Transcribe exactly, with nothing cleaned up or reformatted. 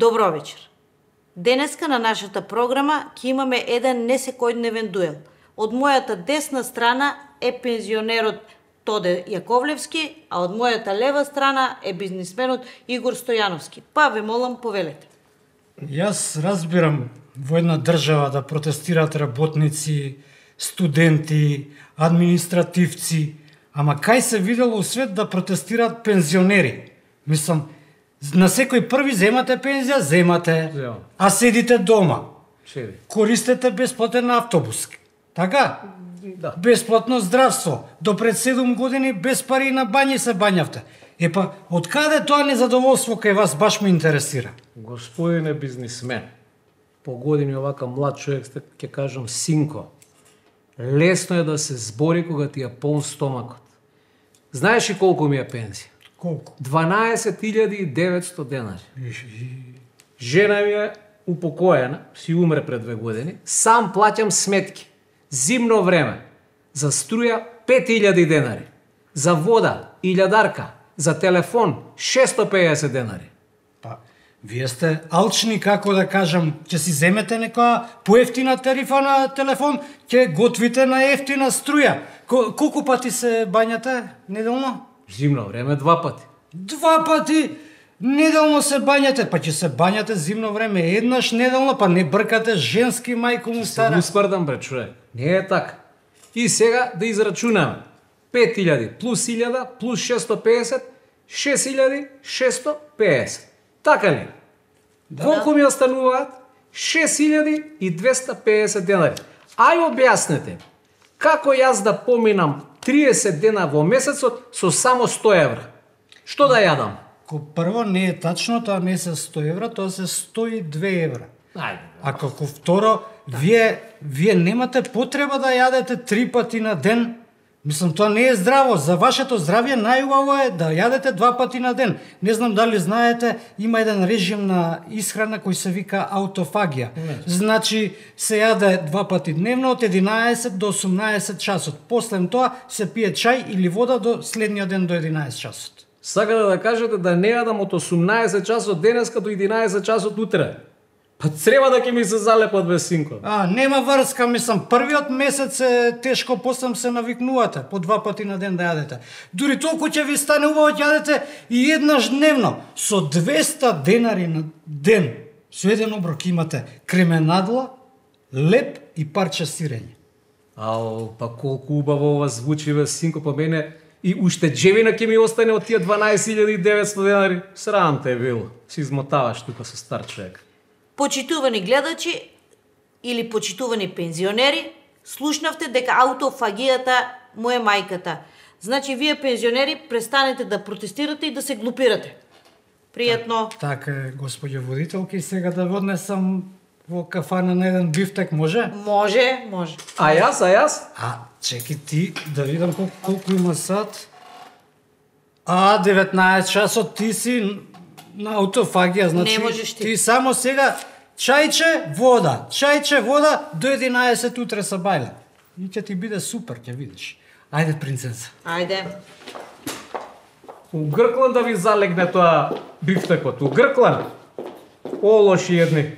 Добро вечер. Денеска на нашата програма ќе имаме еден несекојдневен дуел. Од мојата десна страна е пензионерот Тоде Јаковлевски, а од мојата лева страна е бизнисменот Игор Стојановски. Па ве молам, повелете. Јас разбирам во една држава да протестираат работници, студенти, административци, ама кај се видело у свет да протестираат пензионери? Мислам, на секој први земате пензија, земате, Земам. а седите дома. Седи. Користете бесплатен автобус. Така? Да. Бесплатно здравство. До пред седум години без пари на бањи се бањавте. Епа, од каде тоа незадоволство кај вас баш ме интересира? Господине бизнисмен, по години овака млад човек, сте, ќе кажам синко, лесно е да се збори кога ти е полн стомакот. Знаеш ли колку ми е пензија? Колку? дванаесет илјади и деветсто денари. Жена ми е упокоена, си умре пред две години, сам плаќам сметки. Зимно време, за струја пет илјади денари, за вода илјадарка, за телефон шесто пеесет денари. Па, вие сте алчни, како да кажам, ќе си земете некоја поевтина тарифа на телефон, ќе готвите на ефтина струја. Ко, колку пати се бањате неделно? Зимно време два пати. Два пати неделно се бањате, па ќе се бањате зимно време еднаш неделно, па не бркате женски мајко му Се стара. го спрдам, бре, човек. Не е така. И сега да израчунаме. пет илјади плюс илјада плюс шесто пеесет, шест илјади шесто пеесет. Така ли? Да, колку ми остануваат? шест илјади и двесте пеесет денари. Ај објаснете, како јас да поминам триесет дена во месецот со само сто евра? Што да јадам? Ко прво не е тачно, тоа не се сто евра, тоа се сто и две евра. Ајде. А како второ, вие, вие немате потреба да јадете три пати на ден. Мислам, тоа не е здраво. За вашето здравје најубаво е да јадете два пати на ден. Не знам дали знаете, има еден режим на исхрана кој се вика аутофагија. Не. Значи, се јаде два пати дневно од единаесет до осумнаесет часот. После тоа се пие чај или вода до следниот ден до единаесет часот. Сакате да кажете да не јадам од осумнаесет часот денеска до единаесет часот утре? Па треба да ќе ми се залепат без синко. А, нема врска, мислам, првиот месец е тешко, после се навикнувате, по два пати на ден да јадете. Дури толку ќе ви стане убаво ќе јадете и еднаш дневно, со двесте денари на ден. Со еден оброк имате кременадла, леп и парче сирење. Ау, па колку убаво ова звучи без синко, по мене и уштеđевина ќе ми остане од тие дванаесет илјади и деветсто денари. Срам те било. Си измотаваш тука со стар човек. Почитувани гледачи или почитувани пензионери, слушнавте дека аутофагијата му е мајката. Значи, вие пензионери престанете да протестирате и да се глупирате. Пријатно. Така е, господјо водителки, сега да однесам во кафана на еден бифтек, може? Може, може. А јас, а јас? А, чеки ти, да видам колку, колку има сат. А, деветнаесет часот, ти си на аутофагија, значи Не можеш ти. ти само сега чајче, вода, чајче, вода, до единаесет утре са бајле. И ќе ти биде супер, ќе видиш. Ајде, принцеса. Ајде. У Гркланд да ви залегне тоа бифтекот. У Гркланд. О, лоши едни.